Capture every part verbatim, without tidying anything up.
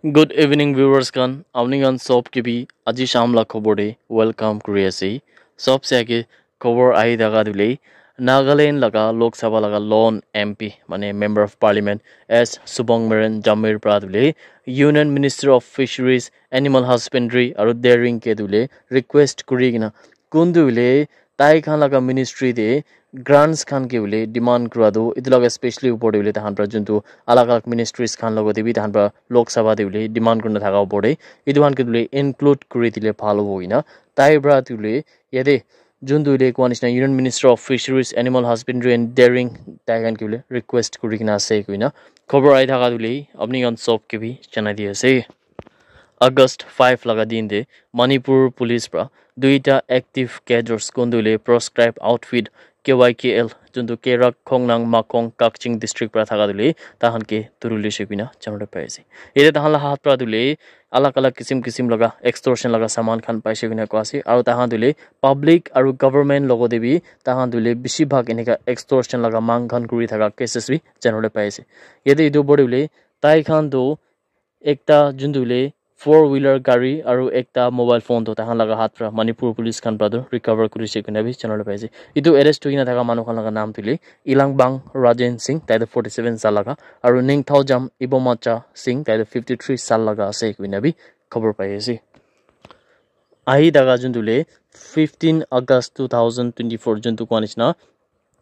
Good evening viewers khan, apni khan sob ke bhi aji sham la khobor de welcome kuri ase. Sob se age khobor ahi thaka tu le Nagaland laga Lok Sabha laga lone M P, mane Member of Parliament, S Subong Meren Jamir pra tu le Union Minister of Fisheries, Animal Husbandry aru Dairying ke tu le request kuri kena kuntu le tai khan laga ministry de grants khan ke hoile demand kura tu etu laga specially upor te hoile tahan pra juntu alag alag ministries khan logo te bi tahan pra Lok Sabha te hoile demand kurina thaka upor te etu khan ke hoile include kuri dile bhal hobo koina tai pra tu hoile yate juntu hoile koa nishina Union Minister of Fisheries, Animal Husbandry and Dairying tai khan ke hoile request kuri kena ase koina khobor ahi thaka tu hoile apni khan sob ke bi janai di ase. August five laga din te Manipur Police pra duita active cadres kuntu le proscribed outfit K Y K L juntu Kerak Khongnang Makong Kakching district pra thaka tu le tahan ke turu lise koina janole pai ase. Yate tahan la hat pra tu le alag alag kisim kisim laga extortion laga saman khan paise koina koa ase aru tahan tu le public aru government logo te bi tahan tu le bishi bhag enika extortion laga mang khan kuri thaka cases bi janole pai ase. Yate etu upor te hoile tai khan tu ekta juntu hoile four wheeler gari aru ekta mobile phone toh tahan laga hat pra Manipur Police khan pra toh recover kurise koina bi janabole pai ase. Etu arrest hoikena thaka manu khan laga naam toh hoile Ilangbang Rajen Singh, tai toh forty seven saal laga, aru Ningthaojam Ibomacha Singh, tai toh fifty three saal laga ase koina bi khobor pai ase. Ahi thaka juntu hoile fifteen August two thousand twenty four juntu koa nishina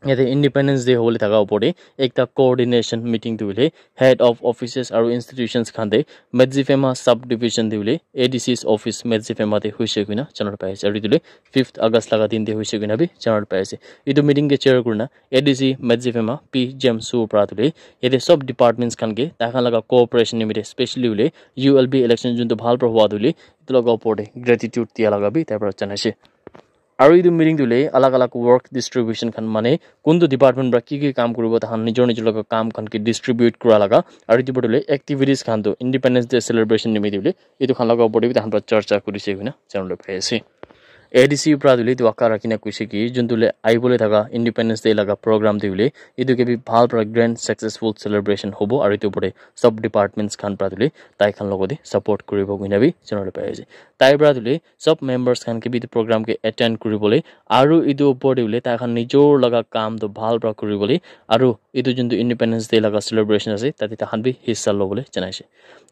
yate Independence Day hobole thaka opor te ekta coordination meeting tu hoile head of offices aru institutions khan te Medziphema sub division te hoile A D C's office Medziphema te hoise koina janabole pai ase aru etu hoile fifth August laga din te hoise koina bi janabole pai ase. Etu meeting ke chair kurina A D C Medziphema P James Su pra tu hoile yate sob departments khan ke tai khan laga cooperation nimite specially hoile U L B election juntu bhal pra hua tu hoile etu laga opor te gratitude dia laga bi tai pra janai ase. Aru etu meeting tu hoile alag alag work distribution khan mane kuntu department pra ki ki kam kuribo tahan nijor nijor laga kam khan ke distribute kura laga aru etu opor te hoile activities khan tu Independence Day celebration nimite hoile etu khan laga opor te bi tahan pra charcha kurise koina janabole pai ase. A D C pra tu hoile etu aka rakhina koise ki juntu hoile ahibole thaka Independence Day laga program te hoile etu ke bi bhal pra grand successful celebration hobo aru etu opor te sob departments khan pra tu hoile tai khan logote support kuribo koina bi janabole pai ase. Tai pra tu hoile sob members khan ke bi etu program ke attend kuribole aru etu opor te hoile tai khan nijor laga kam tu bhal pra kuribole aru etu juntu Independence Day laga celebration ase tate tai khan bi hissa lobole janai ase.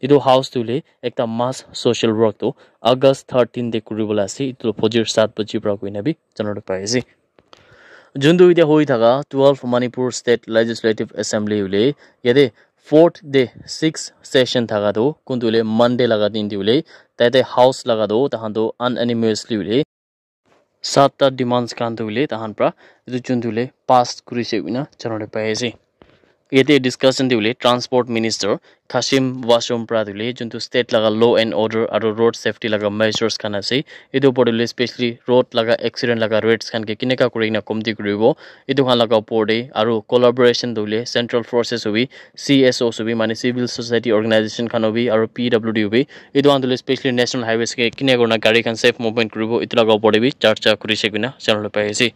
Etu house tu hoile ekta mass social work tu August thirteen te kuribole ase. Etu fajr saat baji pra koina bi janabole pai ase. Juntu etia hoi thaka twelve Manipur State Legislative Assembly hoile yate fourth day sixth session thaka tu kuntu hoile Monday laga din te hoile tate house laga tu tahan tu unanimously hoile satta demands khan tu hoile tahan pra etu juntu hoile pass kurise koina janabole pai ase. Yate discussion te hoile Transport Minister Khashim Washum pra tu hoile juntu state laga law and order aru road safety laga measures khan ase etu opor te hoile specially road laga accident laga rates khan ke kineka kuri kena komti kuribo etu khan laga opor te aru collaboration tu hoile central forces hobi C S Os hobi mane civil society organization khan hobi aru P W D hobi etu khan tu hoile specially national highways ke kineka kurina gari khan safe movement kuribo etu laga opor te bi charcha kurise koina janabole pai ase.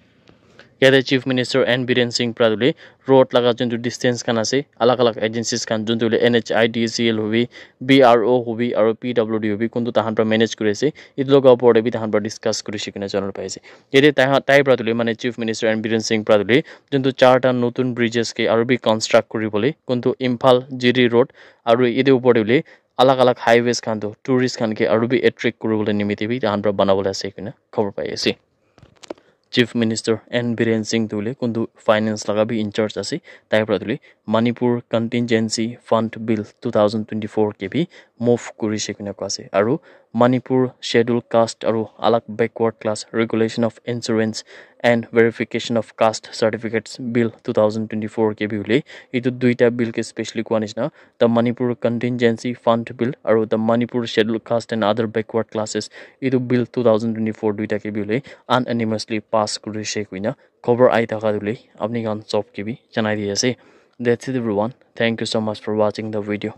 Yate Chief Minister N Biren Singh pra tu hoile road laga juntu distance khan ase alag alag agencies khan juntu hoile N H I D C L hobi B R O hobi aru P W D hobi kuntu tahan pra manage kuri ase etu laga opor te bi tahan pra discuss kurise koina janabole pai ase. Yate tai pra tu hoile mane Chief Minister N Biren Singh pra tu hoile juntu charta notun bridges ke aru bi construct kuribole kuntu Imphal G D road aru etu opor te hoile alag alag highways khan tu tourist khan ke aru bi attract kuribole nimite bi tahan pra banabole ase koina khobor pai ase. Chief Minister N Biren Singh tu hoile kuntu finance laga bi in charge ase tai pra tu hoile Manipur Contingency Fund Bill two thousand twenty four ke bi move kurise koina koa ase aru Manipur Schedule Caste aru alag backward class regulation of insurance and verification of caste certificates Bill two thousand twenty four ke bi hoile etu duita bill ke specially koa nishina the Manipur Contingency Fund Bill aru the Manipur Schedule Caste and Other Backward Classes etu bill two thousand twenty four duita ke bi hoile unanimously pass kurise koina khobor ahi thaka tu hoile apni khan sob ke bi janai di ase. That's it everyone. Thank you so much for watching the video.